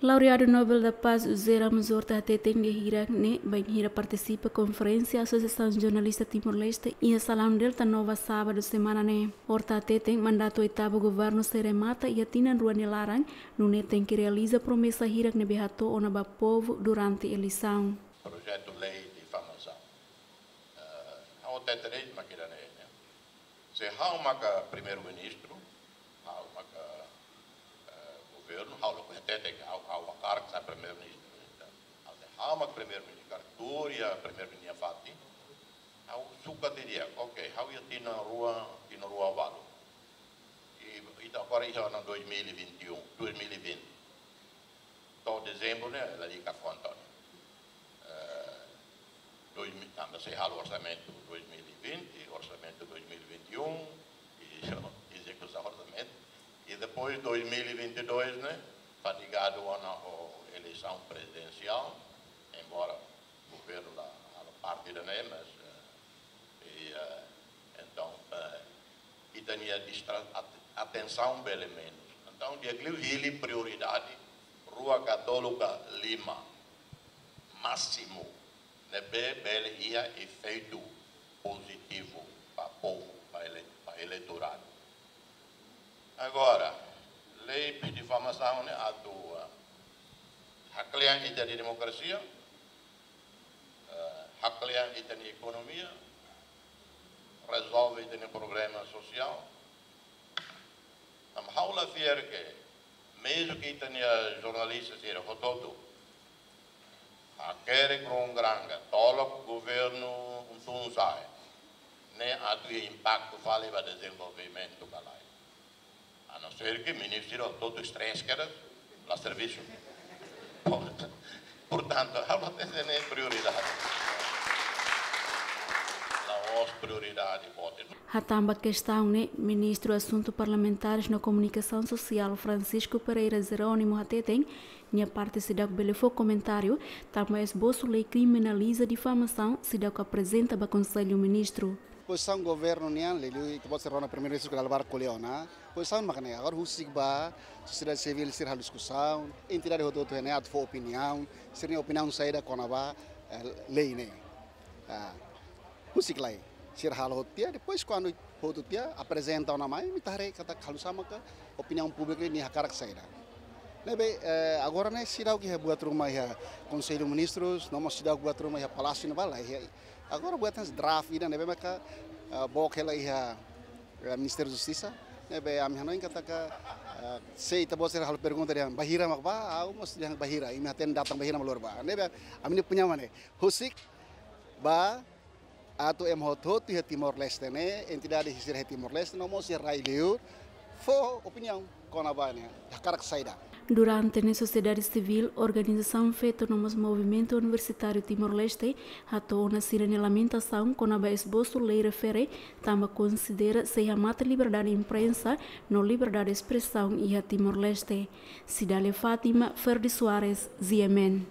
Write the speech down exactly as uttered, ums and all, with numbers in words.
Laureadu Nobel da Paz José Ramos Horta hateten lia hirak ne'e bainhira partisipa konferénsia Asosiasaun Jornalista Timor-Leste iha Salaun Delta Nova sábadu semana ne'e. Horta hateten mandatu oitavu governu sei remata iha tinan rua nia laran, nune'e tenke realiza promesa hirak ne'ebé hato'o ona ba povu durante eleisaun. Projetu lei difamasaun. Eh, ha'u hatete de'it mak ida-ne'e, ne'e. Se ha'u maka primeiru-ministru, ha'u maka, eh, governu, ha'u la hatete katak ha'u, ha'u hakarak sai primeiru-ministru. Entaun, se ha'u maka primeiru-ministru, karik tuur iha primeiru-ministru nia fatin, ha'u sukat di'ak, oke, ha'u iha tinan rua, tinan rua ualu. I, ita agora iha ona dois mil e vinte e um, dois mil e vinte. To'o dezembru ne'e, lalika konta. Eh, dois mil, tanba sei halo orsamentu dois mil e vinte, orsamentu dois mil e vinte e um, i ezekusaun orsamentu. I depois dois mil e vinte e dois ne'e, fadigadu ona ho eleisaun prezidensiál, embora governu la halo parte ida-ne'e, mas, eh, i, eh, entaun, eh, ita-nia distra-, at-, atensaun bele menus. Entaun, di'ak liu hili prioridade rua ka tolu ka lima másimu ne'ebé bele iha efeitu pozitivu ba povu, ba ele-, ba eleitoradu. Agora, lei difamasaun ne'e atu, ah, haklean ita-nia demokrasia, eh, haklean ita-nia ekonomia, rezolve ita-nia problema sosiál. Tanba ha'u la fiar ke, mezmu ke ita-nia jornalista sira hotu-hotu hakerek rongoranga, tolok governu unu tun sa'e, ne'e atu iha impaktu fali ba dezenvolvimentu ka lae. A não ser ke ministru hotu-hotu stress kedas, la servisu. Porta-, portantu, ha'u hateten ne'e prioridade. La'ós prioridade boot. Hatán ba kestaun ne'e, Ministru Asuntu Parlamentares no Komunikasaun Sosiál Francisco Pereira Jerónimo hateten, nia parte seidauk bele fó komentáriu, tanba esbosu lei kriminaliza difamasaun seidauk aprezenta ba Konsellu Ministru. Pozisaun governu nian, liuliu ita-boot sira rona primeiru-ministru ke dala barak ko'alia ona. Pozisaun mak ne'e, agora husik ba sosiedade sivíl sira halo diskusaun, entidade hotu-hotu iha ne'e atu fó opiniaun, sira-nia opiniaun saida kona-ba, eh, lei ne'e. Ah, husik lai, sira halo hotu tiha, depois kuandu hotu tiha aprezenta ona mai, imi ita haree katak halo sama ka opiniaun públiku ne'e hakarak saida. Ne'ebé, eh, agora ne'e seidauk iha buat ruma iha Konsellu Ministrus, no mós seidauk buat ruma iha Palásiu ne'ebá la iha. Agora buat ne'e draft ida ne'ebé maka, eh, book hela iha, eh, Ministériu Justisa. Ne'ebé ami hanoin katak, eh, se ita-boot sira halo pergunta dehan bainhira mak bá, ha'u mós dehan bainhira, imi hatene data bainhira mak lori bá. Ne'ebé ami-nia opiniaun mak ne'e. Husik ba atu ema hotu-hotu iha Timor-Leste ne'e, entidade sira iha Timor-Leste, no mós iha rai-liur, fó opiniaun kona-ba ne'e, hakarak saida. Durante ne'e sosiedade sivíl, organizasaun feto no mós movimentu universitáriu Timor-Leste, hato'o ona sira-nia lamentasaun kona-ba esbosu lei refere, tanba konsidera sei hamate liberdade imprensa no liberdade espresaun iha Timor-Leste. Cidália Fátima, Ferdi Soares, G M N.